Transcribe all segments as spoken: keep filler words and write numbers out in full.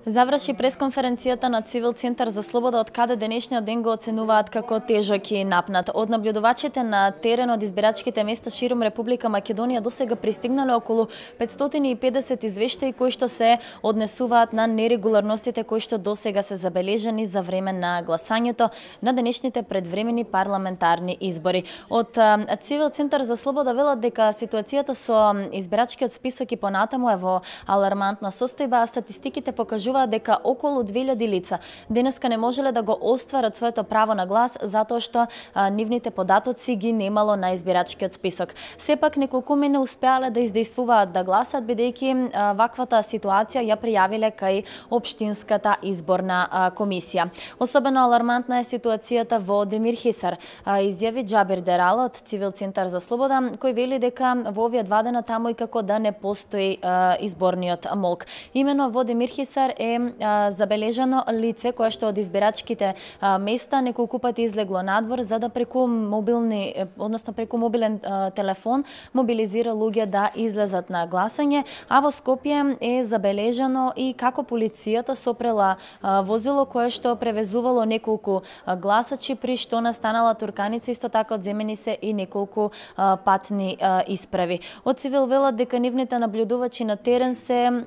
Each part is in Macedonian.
Заврши пресконференцијата на Цивил Центар за слобода, од каде денешниот ден го оценуваат како тежок и напнат. Од наблюдувачите на терен од избирачките места широм Република Македонија досега пристигнале околу петстотини и педесет извештаи кои што се однесуваат на нерегуларностите кои што досега се забележани за време на гласањето на денешните предвремени парламентарни избори. Од Цивил Центар за слобода велат дека ситуацијата со избирачкиот список и понатаму е во алармантна состојба, а статистиките покажуваат дека околу две илјади лица денеска не можеле да го остварат своето право на глас затоа што а, нивните податоци ги немало на избирачкиот список. Сепак неколкуме не успеале да издействуваат да гласат, бидејќи а, ваквата ситуација ја пријавиле кај Општинската изборна а, комисија. Особено алармантна е ситуацијата во Демир Хисар, а, изјави Џабир Дерал од Цивил Центар за слобода, кој вели дека во овие два дена таму и како да не постои а, изборниот молк. Имено во Демир Хисар е а, забележано лице кое што од избирачките а, места неколку пати излегло надвор за да преку мобилни, односно преку мобилен а, телефон мобилизира луѓе да излезат на гласање, а во Скопје е забележано и како полицијата сопрела а, возило кое што превезувало неколку а, гласачи, при што настанала турканица, исто така одземени се и неколку а, патни а, исправи. Од Цивил велат дека нивните наблюдувачи на терен се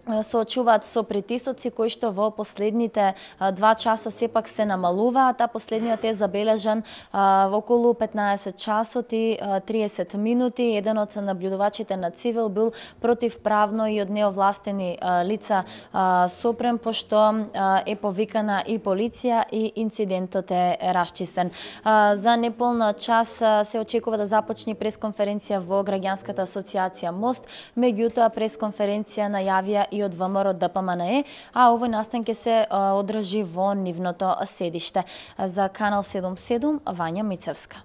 соочуваат со притисоци кои што во последните два часа сепак се намалуваат, а последниот е забележан а, во околу петнаесет часот и триесет минути. Еден од наблюдувачите на Цивил бил противправно и од неовластени а, лица а, сопрем, пошто а, е повикана и полиција и инцидентот е расчистен. А, за неполна час а, се очекува да започне пресконференција во Граѓанската асоциација Мост, меѓутоа пресконференција најавија и од ВМРО ДПМНЕ, а овој настан ќе се одржи во нивното седиште. За Канал седумдесет и седум, Вања Мицевска.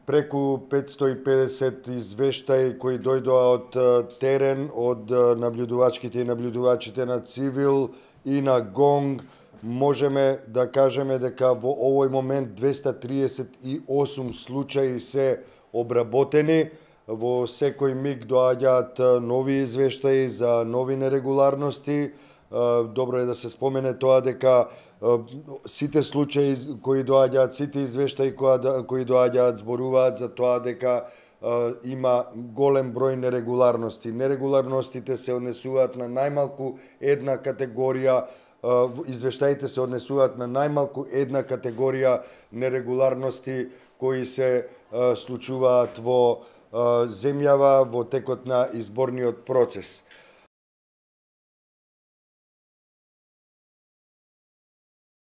Преку петстотини и педесет извештаи кои дојдоа од терен, од наблюдувачките и наблюдувачите на Цивил и на Гонг, можеме да кажеме дека во овој момент двеста триесет и осум случаи се обработени. Во секој миг доаѓаат нови извештаи за нови нерегуларности. Добро е да се спомене тоа дека сите случаи кои доаѓаат, сите извештаи кои доаѓаат зборуваат за тоа дека има голем број нерегуларности. Нерегуларностите се однесуваат на најмалку една категорија, извештаите се однесуваат на најмалку една категорија нерегуларности кои се случуваат во земјава во текот на изборниот процес.